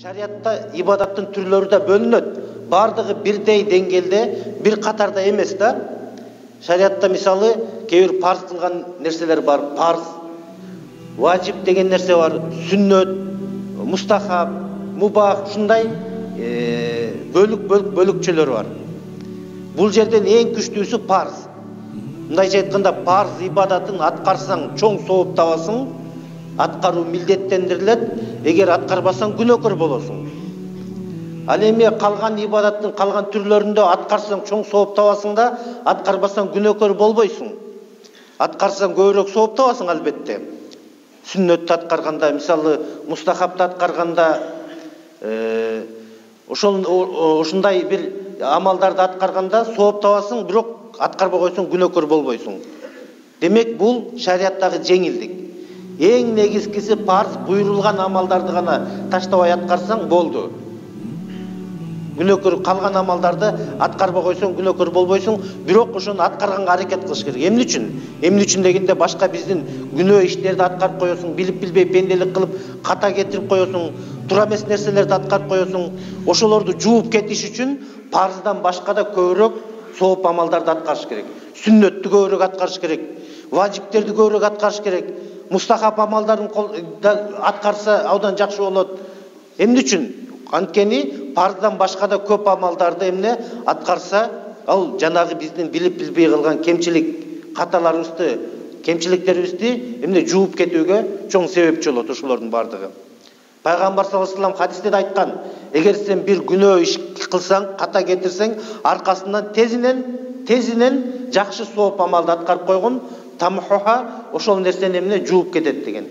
Шариатта ибадаттын түрлөрү да бөлүнөт. Бардыгы бирдей деңгээлде, бир катарда эмес да. Шариатта мисалы кээ бир парз кылган нерселер бар. Парз, важип деген нерсе бар, сүннөт, мустахаб, мубах, ушундай бөлүкчөлөр бар. Бул жерден эң күчтүүсү парз. Мындайча айтканда, парз ибадатын аткарсаң чоң сооп табасың, аткаруу милдеттендирилет, эгер аткарбасаң күнөөкөр болосуң. Ал эми калган ибадаттын калган түрлөрүндө аткарсаң чоң сооп табасың да, аткарбасаң күнөөкөр болбойсуң. Аткарсаң көбүрөөк сооп табасың албетте. Сүннөттү аткарганда, мисалы мустахабты аткарганда, ушундай бир амалдарды аткарганда сооп табасың, бирок аткарбай койсоң күнөөкөр болбойсуң. Демек, бул шариаттагы жеңилдик. Эң негизгиси парз буйрулган амалдарды гана таштабай аткарсаң болду. Күнөөкөр калган амалдарды аткарбай койсоң күнөөкөр болбойсуң, бирок ошону аткарганга аракет кылыш керек. Эмне үчүн? Эмне үчүн дегенде башка биздин күнөө иштерди аткарып коесуң, билип билбей пенделик кылып ката кетирип коесуң, туура эмес нерселерди аткарып коесуң. Ошолорду жууп кетиш үчүн парздан башка да көбүрөөк сооп амалдарды аткарыш керек. Сүннөттү көбүрөөк аткарыш керек, важиптерди көбүрөөк аткарыш керек. Мустахаб амалдарын аткарса абдан жакшы болот. Эмне үчүн? Анткени парздан башка да көп амалдарды эмне аткарса, ал жанагы биздин билип билбей кылган кемчилик каталарыбызды, кемчиликтерибизди эмне жууп кетүүгө чоң себепчи болот ошолордун бардыгы. Пайгамбар саллаллаху алейхи вассалам хадисте да айткан: эгер сен бир күнөө иш кылсаң, ката кетирсең, аркасынан тезинен жакшы сооп амалды аткарып койгон, тамхуха, ошол нерсени эмне жууп кетет деген.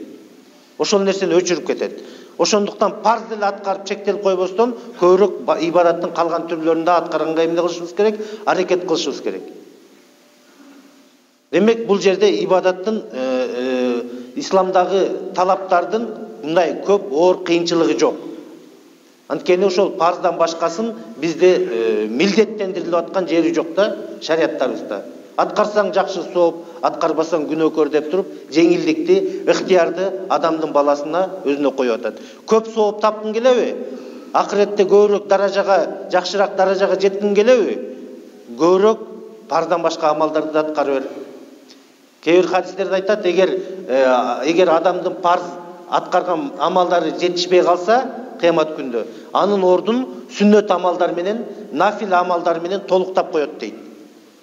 Ошол нерсени өчүрүп кетет. Ошондуктан парз деле аткарып чектелип койбостон, көбүрөөк ибадаттын калган түрлөрүндө аткарганга эмне кылышыбыз керек? Аракет кылышыбыз керек. Демек, бул жерде ибадаттын исламдагы талаптардын мындай көп оор кыйынчылыгы жок. Анткени ошол парздан башкасын бизде милдеттендирилип аткан жери жок да шариаттарыбызда. Аткарсаң жакшы сооп, аткарбасаң күнөөкөр деп туруп, жеңилдикти, ыктыярды адамдын баласына өзүнө коюп атат. Көп сооп тапкың келеби? Акыретте көбүрөөк даражага, жакшыраак даражага жеткиң келеби? Көбүрөөк парздан башка амалдарды да аткара бер. Кээ бир хадистерде айтат, эгер адамдын парз аткарган амалдары жетишпей калса, кыямат күндө анын ордун сүннөт амалдар менен, нафил амалдар менен толуктап коет дейт.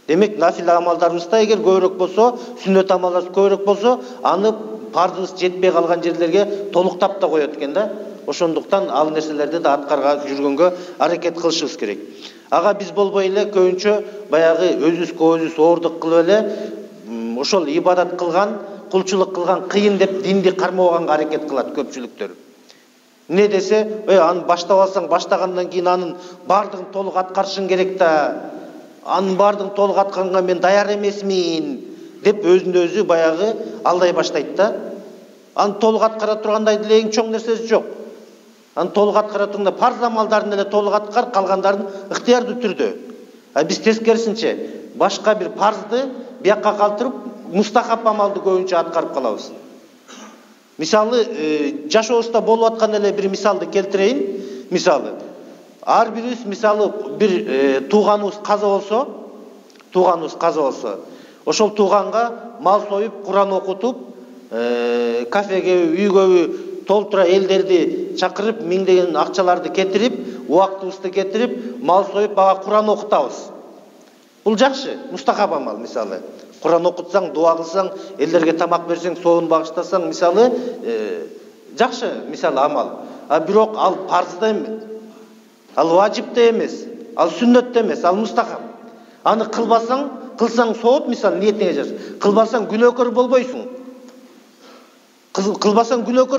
Демек, нафил амалдарыбызда эгер көбүрөөк болсо, сүннөт амалдарыбыз көбүрөөк болсо, аны парзыбыз жетпей калган жерлерге толуктап да коет экен да. Ошондуктан ал нерселерди да аткарга жүргөнгө аракет кылышыбыз керек. Ага биз болбой эле көбүнчө баягы өзүбүзгө өзүбүз оордук кылып эле ошол ибадат кылган, кулчулук кылган кыйын деп динди кармабаганга аракет кылат көпчүлүктөр. Эмне десе, аны баштап алсаң, баштагандан кийин анын бардыгын толук аткарышың керек да. Анын бардыгын толук аткарганга мен даяр эмесмин деп өзүндө өзү баягы алдай баштайт да. Аны толук аткара тургандай деле эң чоң нерсеси жок. Аны толук аткара турганда парз амалдарын эле толук аткар, калгандарын ыктыярдуу түрдө. Биз тескерисинче башка бир парзды биякка калтырып, мустахаб амалды көбүнчө аткарып калабыз. Мисалы, жашообузда болуп аткан эле бир мисалды келтирейин. Мисалы, ар бирибиз мисалы бир тууганыбыз каза болсо, ошол тууганга мал союп, Куран окутуп, кафеге, үйгө толтура элдерди чакырып, миңдеген акчаларды кетирип, убактыбызды кетирип, мал союп, ага Куран окутабыз. Бул жакшы, мустахаб амал мисалы. Куран окутсаң, дуа кылсаң, элдерге тамак берсең, соон багыштасаң, мисалы, жакшы мисалы амал. Бирок ал парз да эмес. Ал важип да эмес, ал сүннөт да эмес, ал мустахаб. Аны кылсаң сооп, мисалы ниетиңе жараша. Кылбасаң күнөөкөр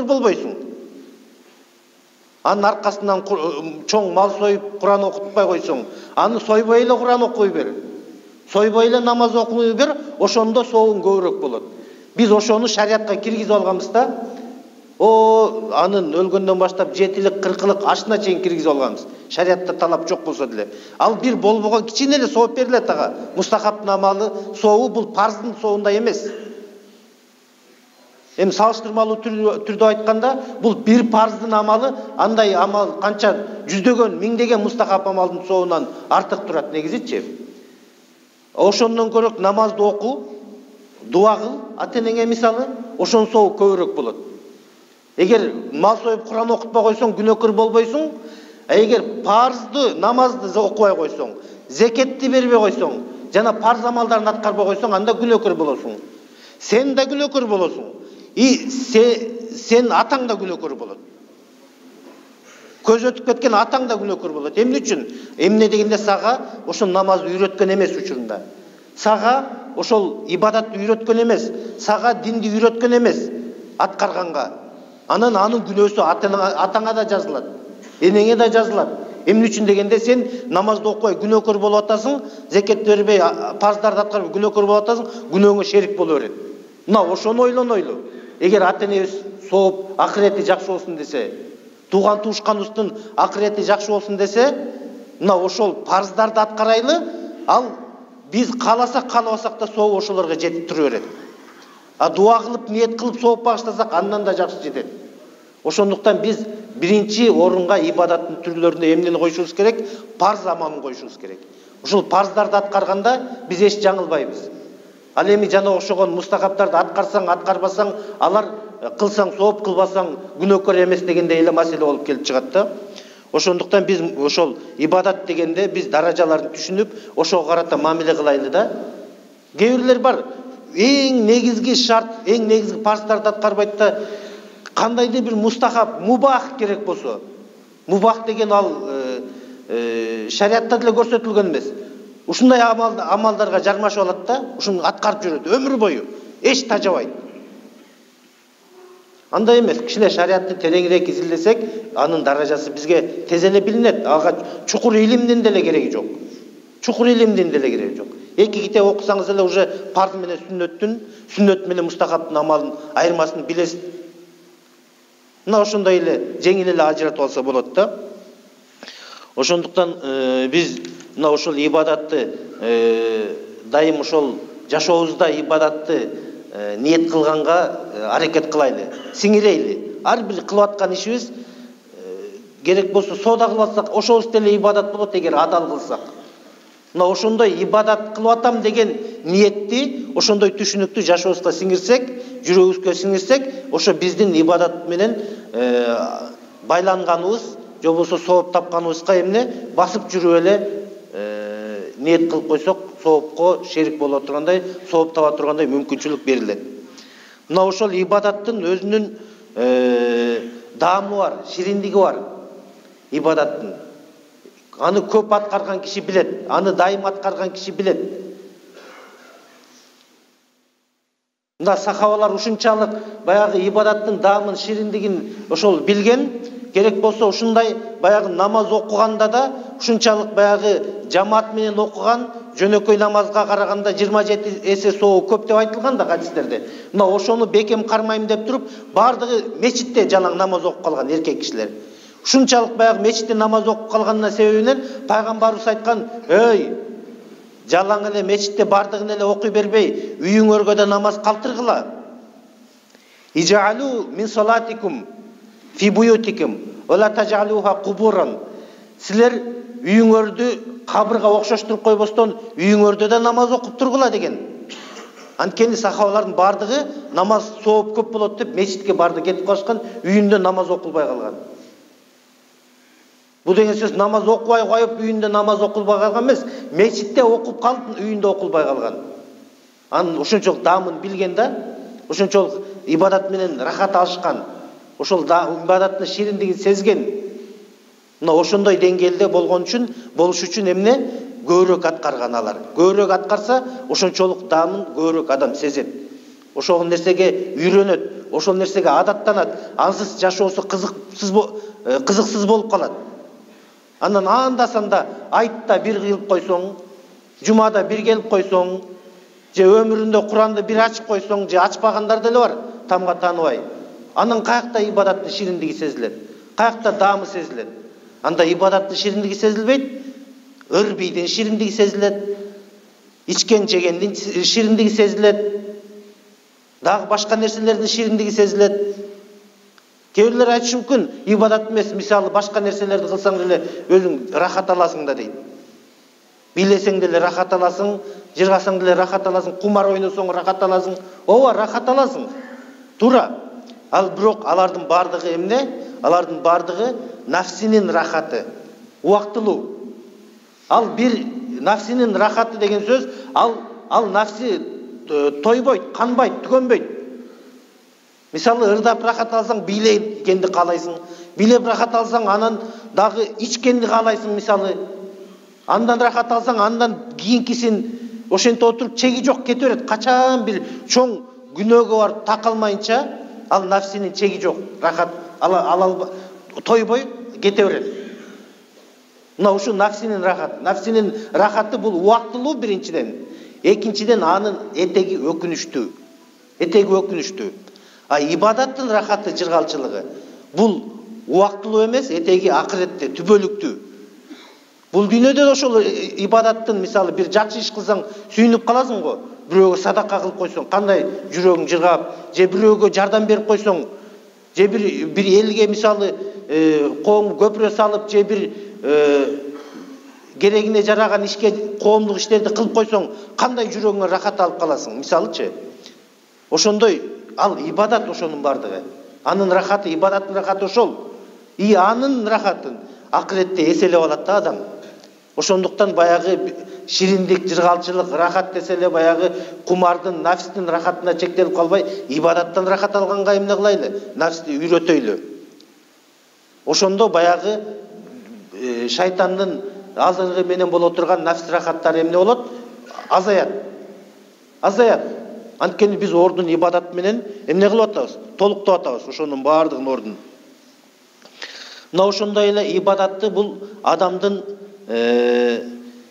болбойсуң. Анын аркасынан чоң мал союп, Куран окутпай койсоң, аны сойбой эле Куран окуй бер. Сойбой эле намаз окуй бер, ошондо соогуң көбүрөөк болот. Биз ошону шариатка киргизип алганбыз да. Анын өлгөндөн баштап 7-лик, 40-лык ашына чейин киргизип алганбыз. Шариатта талап жок болсо деле. Ал бир болбогон кичине эле сооп берилет ага. Мустахабтын амалы сообу бул парздын соогундай эмес. Эми салыштырмалуу түрдө айтканда, бул бир парздын амалы, андай амал канча жүздөгөн, миңдеген мустахаб амалдын соонан артык турат негизичи. Ошондон көрөк намазды оку, дуа кыл, ата-энеңе мисалы, ошонун сообу көбүрөөк болот. Эгер мал союп Куран окутпай койсоң, күнөөкөр болбойсуң. Эгер парзды, намазды окубай койсоң, зекетти бербей койсоң, жана парз амалдарын аткарбай койсоң, анда күнөөкөр болосуң. Сен да күнөөкөр болосуң. Сен атаң да күнөөкөр болот. Көз өтүп кеткен атаң да күнөөкөр болот. Эмне үчүн? Эмне дегенде сага ошол намазды үйрөткөн эмес учурунда. Сага ошол ибадатты үйрөткөн эмес, сага динди үйрөткөн эмес аткарганга. Анан анын күнөөсү атаңа да жазылат, энеңе да жазылат. Эмне үчүн дегенде сен намазды окубай күнөөкөр болуп атасың, зекет бербей, парздарды аткарбай күнөөкөр болуп атасың, күнөөңө шерик боло берет. Мына ошону ойлонойлу. Эгер ата-энебиз сооп, акырети жакшы болсун десе, тууган туушканыбыздын акырети жакшы болсун десе, мына ошол парздарды аткарайлы, ал биз кааласак, каалабасак да соо ошолорго жетип тура берет. А дуа кылып, ниет кылып сооп багыштасак, андан да жакшы жетет. Ошондуктан биз биринчи орунга ибадаттын түрлөрүндө эмнени коюшубуз керек? Парз амалын коюшубуз керек. Ошол парздарды аткарганда биз эч жаңылбайбыз. Ал эми жана окшогон мустахабтарды аткарсаң, аткарбасаң, алар кылсаң сооп, кылбасаң күнөөкөр эмес дегендей эле маселе болуп келип чыгат да. Ошондуктан биз ошол ибадат дегенде биз даражаларын түшүнүп, ошого карата мамиле кылайлы да. Кээ бирлер бар, эң негизги шарт, эң негизги парздарды аткарбайт да, кандайдыр бир мустахаб, мубах керек болсо. Мубах деген ал шариатта деле көрсөтүлгөн эмес. Ушундай амалдарга жармашып алат да, ушуну аткарып жүрөт өмүр бою, эч тажабайт. Андай эмес, кишилер шариатты тереңирээк изилдесек, анын даражасы бизге тез эле билинет. Ага чукур илимдин деле кереги жок. Чукур илимдин деле кереги жок. Эки китеп окусаңыз эле уже парз менен сүннөт менен мустахабтын амалын айырмасын билесиз. Мына ошондой эле жеңил эле ажыратып алса болот да. Ошондуктан биз мына ошол ибадатты дайым ошол жашообузда ибадатты ниет кылганга аракет кылайлы, сиңирейли. Ар бир кылып аткан ишибиз керек болсо соода кылып атсак, ошобуз деле ибадат болот эгер адал кылсак. Мына ошондой ибадат кылып атам деген ниетти, ошондой түшүнүктү жашообузга сиңирсек, жүрөгүбүзгө сиңирсек, ошо биздин ибадат менен байланганыбыз, же болбосо сооп тапканыбызга эмне басып жүрүп эле ниет кылып койсок, соопко шерик боло тургандай, сооп таба тургандай мүмкүнчүлүк берилет. Мына ошол ибадаттын өзүнүн даамы бар, шириндиги бар. Ибадаттын аны көп аткарган киши билет, аны дайым аткарган киши билет. Мына сахабалар ушунчалык баягы ибадаттын даамын, шириндигин ошол билген, керек болсо ушундай баягы намаз окуганда да ушунчалык баягы жамаат менен окуган жөнөкөй намазга караганда 27 эсе сообу көп деп айтылган да хадистерде. Мына ошону бекем кармайм деп туруп, бардыгы мечитте жалаң намаз окуп калган эркек кишилер. Ушунчалык баягы мечитте намаз окуп калганына себебинен пайгамбарыбыз айткан: "Эй, жалаң эле мечитте бардыгын эле окуй бербей, үйүңөргө да намаз калтыргыла. Ижалу мин салатикум фи буютикум ва ла тажалуха кубуран." Силер үйүңөрдү кабырга окшоштуруп койбостон, үйүңөрдө да намаз окуп тургула деген. Анткени сахабалардын бардыгы намаз сооп көп болот деп мечитке барды кетип калышкан, үйүндө намаз окулбай калган. Бул деген сөз намаз окубай коюп, үйүндө намаз окулбай калган эмес, мечитте окуп калып, үйүндө окулбай калган. Анын ошончолук даамын билген да, ошончолук ибадат менен рахат алышкан, ошол ибадаттын шириндигин сезген. Мына ошондой деңгээлде болуш үчүн эмне көбүрөөк аткарган алар. Көбүрөөк аткарса, ошончолук даамын көбүрөөк адам сезет. Ошол нерсеге үйрөнөт, ошол нерсеге адаттанат. Ансыз жашоосу кызыксыз болуп калат. Андан анда-санда айтта бир кылып койсоң, жумада бир келип койсоң, же өмүрүндө Куранды бир ачып койсоң, же ачпагандар деле бар, тамга тааныбай. Анын каякта ибадаттын шириндиги сезилет, каякта даамы сезилет. Анда ибадаттын шириндиги сезилбейт, ырбийдин шириндиги сезилет, ичкен жегендин шириндиги сезилет. дагы башка нерселердин шириндиги сезилет. Кээ бирлер айтышы мүмкүн, ибадат эмес, мисалы башка нерселерди кылсаң деле өзүң рахат аласың да дейт. Бийлесең деле рахат аласың, жыргасаң деле рахат аласың, кумар ойносоң рахат аласың. Ооба, рахат аласың. Туура. Ал бирок алардын бардыгы эмне? Алардын бардыгы нафсинин рахаты, убактылуу. Ал бир нафсинин рахаты деген сөз, ал нафси тойбойт, канбайт, түгөнбөйт. Мисалы, ырдап рахат алсаң, бийлегенди каалайсың. Бийлеп рахат алсаң, анан дагы ичкенди каалайсың, мисалы. Андан рахат алсаң, андан кийинкисин ошентип отуруп чеги жок кете берет. Качан бир чоң күнөөгө барып такалмайынча, ал нафсинин чеги жок. Рахат тойбой кете берет. Мына ушу нафсинин рахат. Нафсинин рахаты бул убактылуу биринчиден. Экинчиден анын этеги өкүнүштүү. А ибадаттын рахаты, жыргалчылыгы бул убактылуу эмес, этеги акыретте, түбөлүктүү. Бул дүйнөдө ошол ибадаттын, мисалы, бир жакшы иш кылсаң сүйүнүп каласың го. Бирөөгө садака кылып койсоң, кандай жүрөгүң жыргап, же бирөөгө жардам берип койсоң, же бир элге, мисалы, коом көпүрө салып, же бир керегине жараган ишке, коомдук иштерди кылып койсоң, кандай жүрөгүңө рахат алып каласың, мисалычы. Ошондой ал ибадат ошонун бардыгы. Анын рахаты, ибадаттын рахаты ошол. И анын рахатын акыретте эселеп алат да адам. Ошондуктан баягы шириндик, жыргалчылык, рахат десе эле баягы кумардын, нафстин рахатына чектелип калбай, ибадаттан рахат алганга эмне кылайлы? Нафсти үйрөтөйлү. Ошондо баягы шайтандын азыркы менен боло турган нафс рахаттары эмне болот? Азаят. Анткени биз ордун ибадат менен эмне кылып атабыз? Толуктап атабыз ошонун баардыгын ордун. Мына ошондой эле ибадатты бул адамдын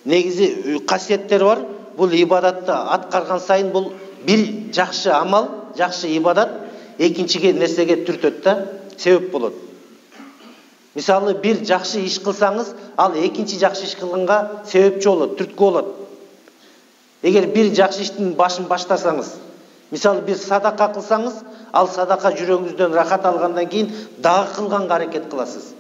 негизи касиеттери бар. Бул ибадатты аткарган сайын бул бир жакшы амал, жакшы ибадат экинчиге нерсеге түртөт да, себеп болот. Мисалы, бир жакшы иш кылсаңыз, ал экинчи жакшы иш кылганга себепчи болот, түрткү болот. Эгер бир жакшы иштин башын баштасаңыз, мисалы, бир садака кылсаңыз, ал садака жүрөгүңүздөн рахат алгандан кийин дагы кылганга аракет кыласыз.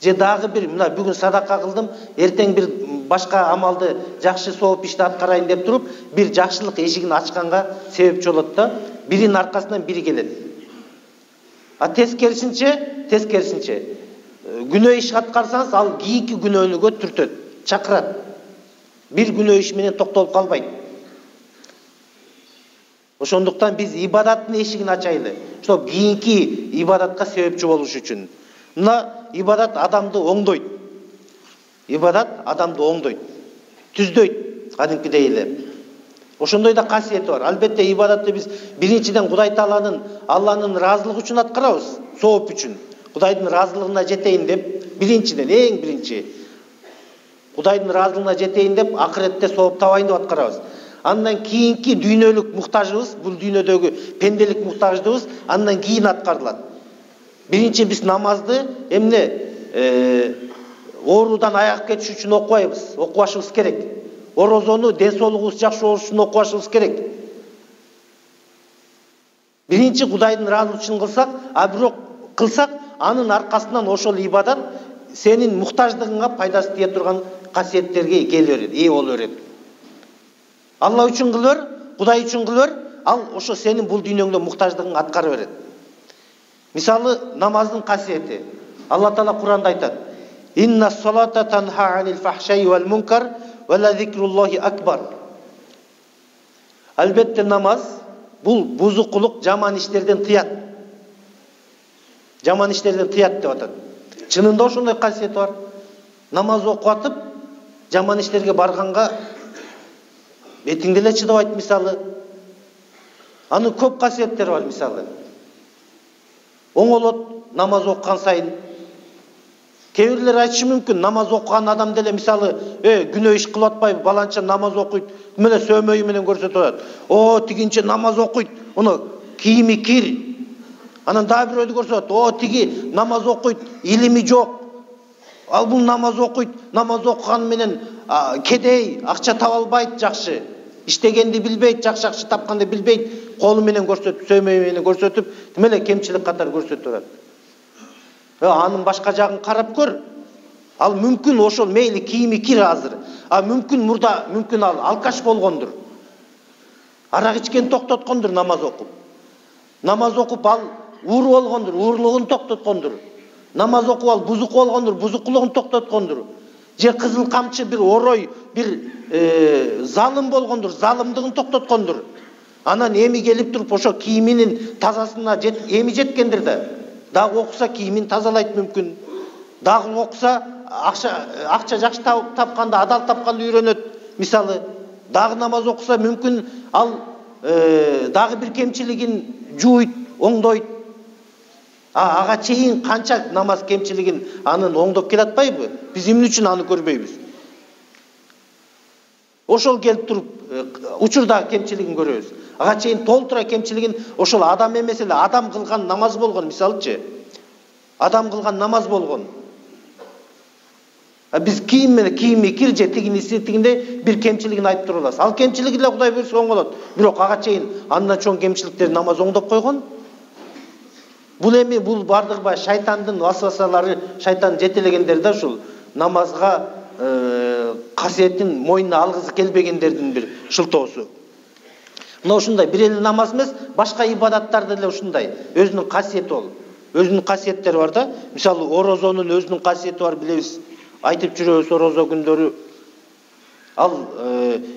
Же дагы бир, мына бүгүн садака кылдым, эртең бир башка амалды, жакшы сооп ишти аткарайын деп туруп, бир жакшылык эшигин ачканга себепчи болот да, биринин аркасынан бири келет. А тескерисинче, күнөө иш аткарсаңыз, ал кийинки күнөөнүгө түртөт, чакырат. Бир күнөө иш менен токтолуп калбайт. Ошондуктан биз ибадаттын эшигин ачайлы, чтобы кийинки ибадатка себепчи болуш үчүн. Мына ибадат адамды оңдойт. Түздөйт, кадимкидей эле. Ошондой да касиети бар. Албетте ибадатты биз биринчиден Кудай Тааланын, Алланын ыраазылыгы үчүн аткарабыз, сооп үчүн. Кудайдын ыраазылыгына жетейин деп, биринчиден, эң биринчи. Кудайдын ыраазылыгына жетейин деп, акыретте сооп табайын деп аткарабыз. Андан кийинки дүйнөлүк муктажыбыз, бул дүйнөдөгү пенделик муктаждыгыбыз андан кийин аткарылат. Биринчи биз намазды оорудан аяк кетиш үчүн окубашыбыз керек. Орозону ден соолугубуз жакшы болуш үчүн окубашыбыз керек. Биринчи Кудайдын ыраазылыгы үчүн кылсак, а бирок кылсак, анын аркасынан ошол ибадат сенин муктаждыгыңа пайдасы тие турган касиеттерге ээ боло берет. Алла үчүн кылыр, Кудай үчүн кылыр, ал ошо сенин бул дүйнөңдө муктаждыгыңды аткара берет. Мисалы, намаздын касиети. Алла Таала Куранда айтат: "Инна салата танха анил фахшай вал мункар ва ла зикруллахи акбар." Албетте намаз бул бузукулук, жаман иштерден тыят. Деп атат. Чынында ошондой касиет бар. Намаз окуп атып, жаман иштерге барганга бетиң деле чыдабайт, мисалы. Анын көп касиеттери бар, мисалы. Оңолот намаз окуган сайын. Кээ бирлер айтышы мүмкүн, намаз окуган адам деле, мисалы, күнөө иш кылып атпайбы, баланча намаз окуйт, менен сөмөйү менен көрсөтүп атат. Тигинче намаз окуйт, уну кийими кир. Анан дагы бирөөдү көрсөтөт, тиги намаз окуйт, илими жок. Ал бул намаз окуйт, намаз окуган менен кедей, акча таба албайт жакшы. иштегенди билбейт, жакшы тапканды билбейт, колу менен көрсөтүп, сөймөй менен көрсөтүп, тим эле кемчилик катары көрсөтүп турат. Анын башка жагын карап көр. Ал мүмкүн ошол мейли кийими кир азыр. Мүмкүн мурда, мүмкүн ал алкаш болгондур. Арак ичкен токтоткондур намаз окуп. Намаз окуп ал ууру болгондур, уурлугун токтоткондур. Намаз окуп ал бузук болгондур, бузуклугун токтоткондур. Же кызыл камчы бир орой, бир залым болгондур, залымдыгын токтоткондур. Анан эми келип туруп ошо кийиминин тазасына эми жеткендир да. Дагы окуса кийимин тазалайт мүмкүн. Дагы окуса акча жакшы тапканда, адал тапканды үйрөнөт. Мисалы, дагы намаз окуса мүмкүн ал дагы бир кемчилигин жууйт, оңдойт. Ага чейин канча намаз кемчилигин анын оңдоп келатпайбы? Биз эмне үчүн аны көрбөйбүз? Ошол келип туруп учурдагы кемчилигин көрөбүз. Ага чейин толтура кемчилигин ошол адам эмес эле, адам кылган намаз болгон, мисалычы. Адам кылган намаз болгон. Биз кийими кир же тигинде бир кемчилигин айтып тура алабыз. Ал кемчилиги эле Кудай буйрса оңолот. Бирок ага чейин андан чоң кемчиликтер намаз оңдоп койгон. Бул бардыгы шайтандын васвасалары, шайтан жетелегендер да ушул намазга касиетин мойнуна алгысы келбегендердин бир шылтоосу. Мына ушундай бир эле намаз эмес, башка ибадаттарды деле ушундай. Өзүнүн касиети бол. Өзүнүн касиеттери бар да. Мисалы, орозонун өзүнүн касиети бар, билебиз. Айтып жүрөбүз орозо күндөрү. Ал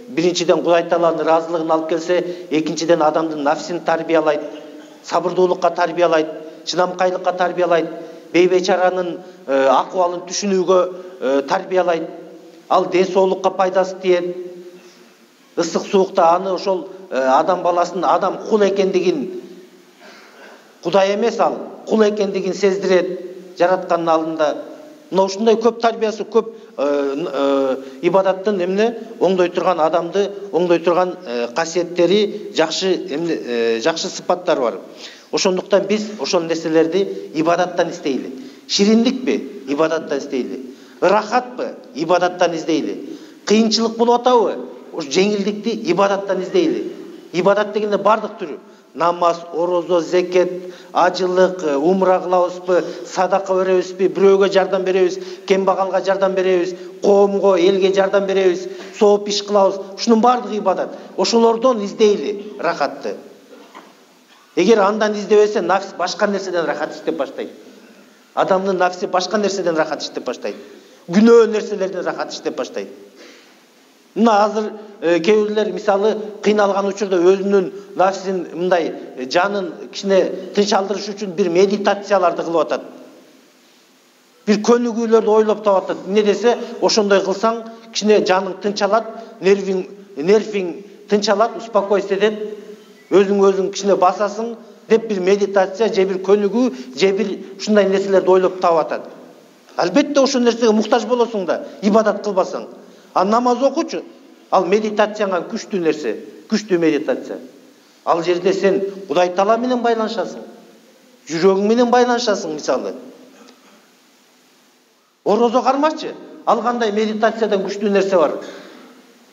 биринчиден Кудай Тааланын ыраазылыгын алып келсе, экинчиден адамдын нафсин тарбиялайт, сабырдуулукка тарбиялайт, чыдамкайлыкка тарбиялайт, бейбечаранын акыбалын түшүнүүгө тарбиялайт. Ал ден соолукка пайдасы тиет. Ысык суукта аны ошол адам баласынын адам кул экендигин, Кудай эмес ал, кул экендигин сездирет жараткандын алдында. Мына ушундай көп тарбиясы, көп ибадаттын оңдой турган адамды, оңдой турган касиеттери, жакшы сыпаттары бар. Ошондуктан биз ошол нерселерди ибадаттан издейли. Шириндикпи? Ибадаттан издейли. Ырахатпы? Ибадаттан издейли. Кыйынчылык болуп атабы? Ош жеңилдикти ибадаттан издейли. Ибадат дегенде бардык түрү. Намаз, орозо, зекет, ажылык, умра кылабызбы, садака беребизби, бирөөгө жардам беребиз, кембагалга жардам беребиз, коомго, элге жардам беребиз, сооп иш кылабыз. Ушунун бардыгы ибадат. Ошолордон издейли рахатты. Эгер андан издебесе, нафс башка нерседен рахат иштеп баштайт. Адамдын нафси башка нерседен рахат иштеп баштайт. Күнөө нерселерден рахат иштеп баштайт. Мына азыр кээ бирлер мисалы кыйналган учурда өзүнүн нафсин мындай жанын кичине тынч алдырыш үчүн бир медитацияларды кылып атат. Бир көнүгүүлөрдү ойлоп таап атат. Эмне десе, ошондой кылсаң кичине жаның тынчалат, нервиң тынчалат, успокойся этет, өзүң кичине басасың деп бир медитация же бир көнүгүү же бир ушундай нерселерди ойлоп таап атат. Албетте ошол нерсеге муктаж болосуң да, ибадат кылбасаң. А намаз окучу, ал медитацияга күчтүү нерсе, күчтүү медитация. Ал жерде сен Кудай Таала менен байланышасың. Жүрөгүң менен байланышасың мисалы. Орозо кармачы, ал кандай медитациядан күчтүү нерсе бар.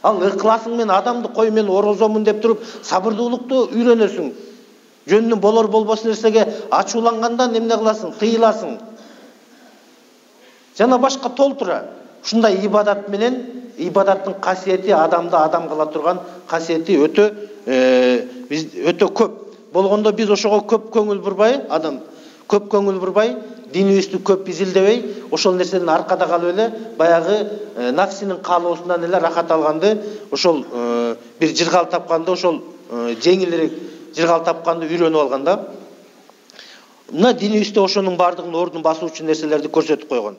Ал ыкласың менен адамды кой мен орозомун деп туруп сабырдуулукту үйрөнөсүң. Жөнүнөн болор болбос нерсеге ачуулангандан эмне кыласың? Тыйыласың. Жана башка толтура. Ушундай ибадат менен ибадаттын касиети адамды адам кыла турган касиети өтө көп. Болгондо биз ошого көп көңүл бурбай, адам көп көңүл бурбай, динибизди көп изилдебей, ошол нерседен аркада калып эле баягы нафсинин каалоосунан эле рахат алганды, ошол бир жыргал тапканды, ошол жеңилирээк жыргал тапканды үйрөнүп алган да. Мына динибизде ошонун бардыгын ордун басуучу нерселерди көрсөтүп койгон.